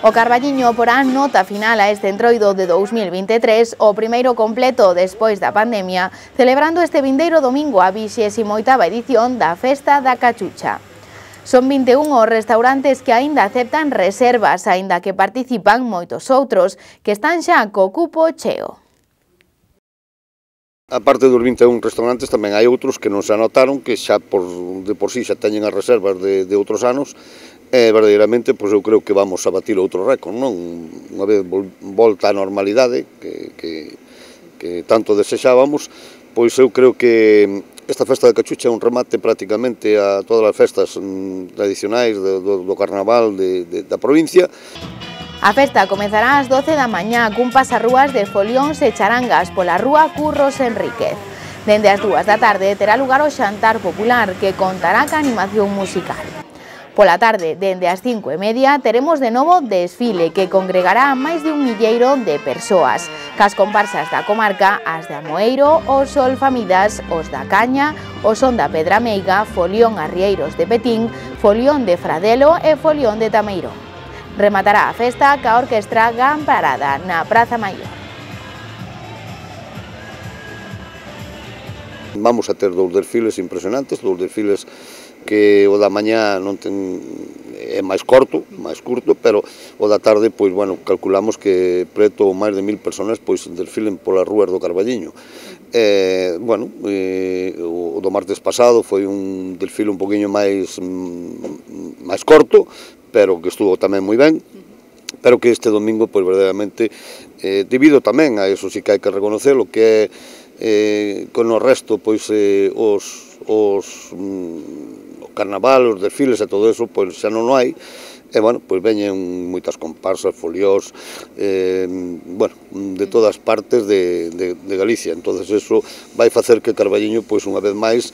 O Carballiño porá nota final a este entroido de 2023, o primeiro completo despois da pandemia, celebrando este vindeiro domingo a 28ª edición da Festa da Cachucha. Son 21 os restaurantes que aínda aceptan reservas, aínda que participan moitos outros, que están xa co cupo cheo. A parte dos 21 restaurantes tamén hai outros que non se anotaron, que xa de por sí xa teñen as reservas de outros anos, e verdadeiramente pois eu creo que vamos a batir outro récord, non? Unha vez volta á normalidade, que tanto desexábamos, pois eu creo que esta Festa da Cachucha é un remate prácticamente a todas as festas tradicionais do carnaval da provincia. A festa comezará ás 12 da mañá cun pasarrúas de folións e charangas pola rúa Curros Enríquez. Dende as 2 da tarde terá lugar o xantar popular, que contará ca animación musical. Pola tarde, dende as 5:30, teremos de novo desfile que congregará a máis de 1 milleiro de persoas, cas comparsas da comarca, as de Amoeiro, os Solfamidas, os da Caña, o Son da Pedra Meiga, Folión Arrieiros de Petín, Folión de Fradelo e Folión de Tameiro. Rematará a festa ca orquestra Gamparada na Praza Maior. Vamos a ter 2 desfiles impresionantes, 2 desfiles que o da mañá non é máis curto, pero o da tarde, pois, bueno, calculamos que preto máis de 1000 personas pois desfilen polas rúas do Carballiño. Bueno, o do martes pasado foi un desfile un poquinho máis curto, pero que estuvo tamén moi ben, pero que este domingo, pois, verdadeiramente, debido tamén a eso, si que hai que reconocerlo, que con o resto, pois, o carnaval, os desfiles e todo eso, pois, xa non hai, e, bueno, pois veñen moitas comparsas, foliós, bueno, de todas partes de Galicia. Entonces, eso vai facer que Carballiño, pois, unha vez máis,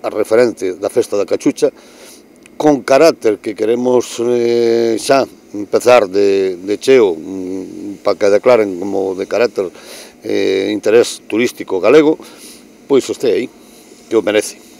a referente da Festa da Cachucha, con carácter que queremos xa empezar de cheo para que declaren como de carácter interés turístico galego, pois este aí, que o merece.